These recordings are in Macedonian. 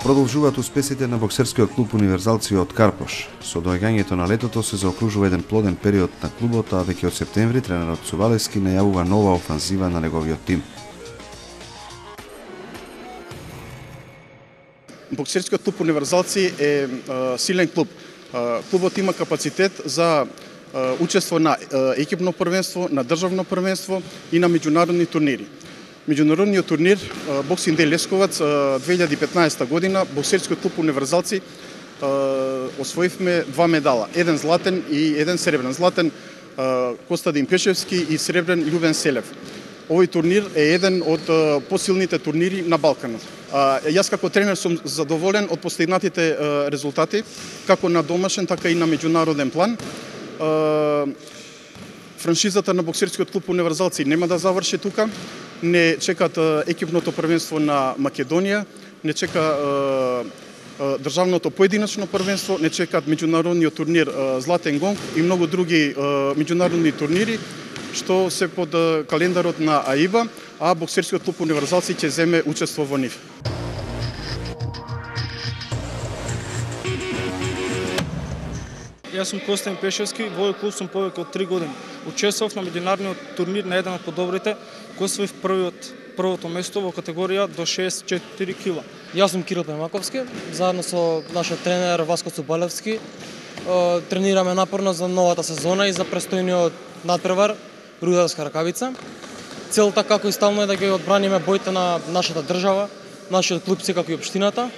Продолжуваат успесите на боксерскиот клуб Универзалци од Карпош. Со доаѓањето на летото се заокружува еден плоден период на клубот, а веќе од септември тренерот Цувалевски најавува нова офанзива на неговиот тим. Боксерскиот клуб Универзалци е силен клуб. Клубот има капацитет за учество на екипно првенство, на државно првенство и на меѓународни турнири. Меѓународниот турнир Боксинг Дей Лесковац 2015 година боксерскиот клуб Универзалци освоивме 2 медала, еден златен и еден сребрен. Златен Костадин Пешевски и сребрен Љубен Селев. Овој турнир е еден од посилните турнири на Балканот. Јас како тренер сум задоволен од постигнатите резултати, како на домашен, така и на меѓународен план. Франшизата на боксерскиот клуб Универзалци нема да заврши тука. Не чекат екипното првенство на Македонија, не чека државното поединечно првенство, не чекат меѓународниот турнир Златен гонг и многу други меѓународни турнири што се под календарот на АИБА, а боксерскиот клуб Универзалци ќе земе учество во нив. Јас сум Костадин Пешевски, во овој клуб сум повеќе од 3 години. Учествував на меѓународниот турнир на еден од подобрите, кој освоив првото место во категорија до 64 кила. Јас сум Кирил Пемаковски, заедно со нашиот тренер Васко Цубалевски. Тренираме напорно за новата сезона и за престојниот надпревар Рударска ракавица. Целта како и стално е да ги одбраниме боите на нашата држава, нашиот клуб како и општината,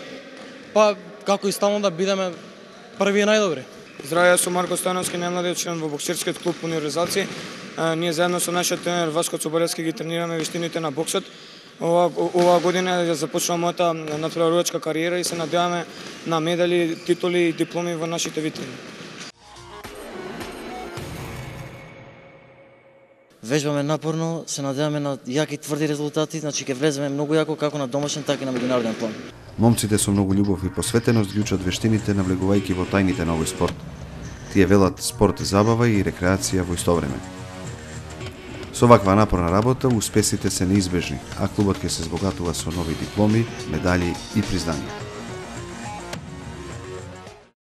па како и стално да бидеме први и најдобри. Здраве, јас сум Марко Стојановски, најмладиот член во боксерскиот клуб Универзалци. Ние заедно со нашиот тренер Васко Цубалевски ги тренираме вештините на боксот. Оваа година ја започнува мојата надпреварувачка кариера и се надеваме на медали, титули и дипломи во нашите витрини. Вежбаме напорно, се надеваме на јаки тврди резултати, значи ќе влеземе многу јако како на домашен, така и на меѓународен план. Момците со многу љубов и посветеност ги учат вештините, навлегувајќи во тајните на овој спорт. Тие велат спорт забава и рекреација во исто време. Со ваква напорна работа успесите се неизбежни, а клубот ќе се збогатува со нови дипломи, медали и признанија.